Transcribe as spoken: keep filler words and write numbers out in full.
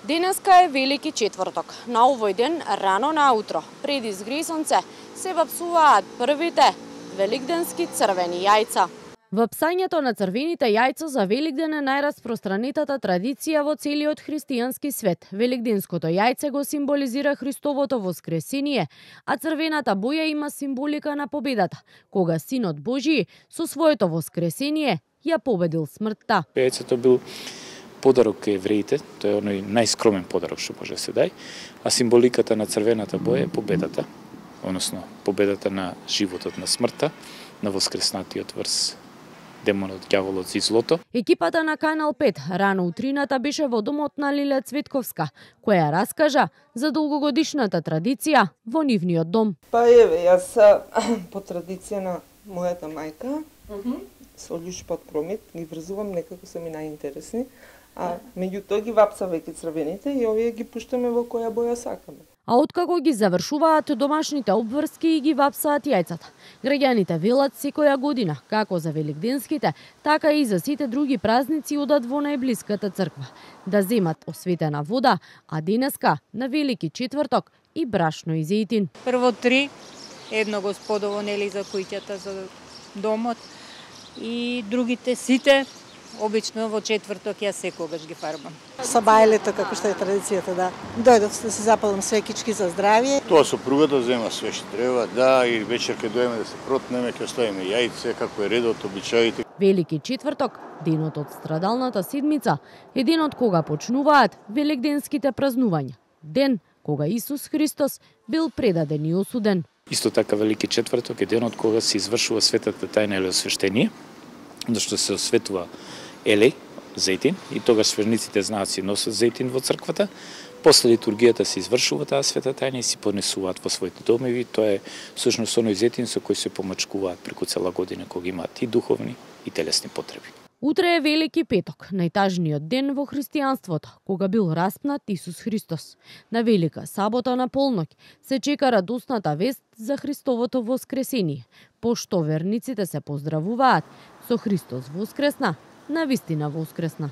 Денеска е Велики четврток. На овој ден, рано наутро, пред изгрее сонце, се вапсуваат првите великденски црвени јајца. Вапсањето на црвените јајца за Великден е најраспространетата традиција во целиот христијански свет. Великденското јајце го символизира Христовото воскресение, а црвената боја има символика на победата, кога Синот Божји со своето воскресение ја победил смртта. Јајцето бил подарок кај евреите, тоа е оној најскромен подарок што може да се дај, а символиката на црвената боја е победата, односно победата на животот, на смртта, на воскреснатиот врз демонот, ѓаволот и злото. Екипата на Канал пет рано утрината беше во домот на Лиле Цветковска, која раскажа за долгогодишната традиција во нивниот дом. Па еве, јас по традиција на мојата мајка, mm -hmm. со љушпот промит, ги врзувам, некако се ми најинтересни, а меѓутоа ги вапсавајќи црвените и овие ги пуштаме во која боја сакаме. А откако ги завршуваат домашните обврски и ги вапсаат јајцата, граѓаните велат секоја година, како за великденските, така и за сите други празници одат во најблиската црква, да земат осветена вода, а денеска, на Велики четврток, и брашно и зејтин. Прво три, едно господово, нели, за куќата, за домот, и другите сите, обично во четврток јас секогаш ги фарбам. Со бајлето, како што е традицијата, да. Дојдов да се запалам свекички за здравје. Тоа сопругата зема све што треба, да, и вечер кога дојдеме да се протнеме, ќе оставиме јајце, како е редот, обичаите. Велики четврток, денот од страдалната седмица, е денот кога почнуваат великденските празнувања. Ден кога Исус Христос бил предаден и осуден. Исто така Велики четврток е денот кога се извршува светата тајна или освештение, зашто се осветува елеј, зејтин, и тогаш сверниците знаат си носат зејтин во црквата. После литургијата се извршува таа света тајна и си понесуваат во своите домови. Тоа е всушност оној зејтин со кој се помачкуваат преку цела година кога имаат и духовни и телесни потреби. Утре е Велики петок, најтажниот ден во христијанството, кога бил распнат Исус Христос. На Велика сабота на полноќ се чека радосната вест за Христовото воскресение, пошто верниците се поздравуваат со Христос воскресна, навистина воскресна.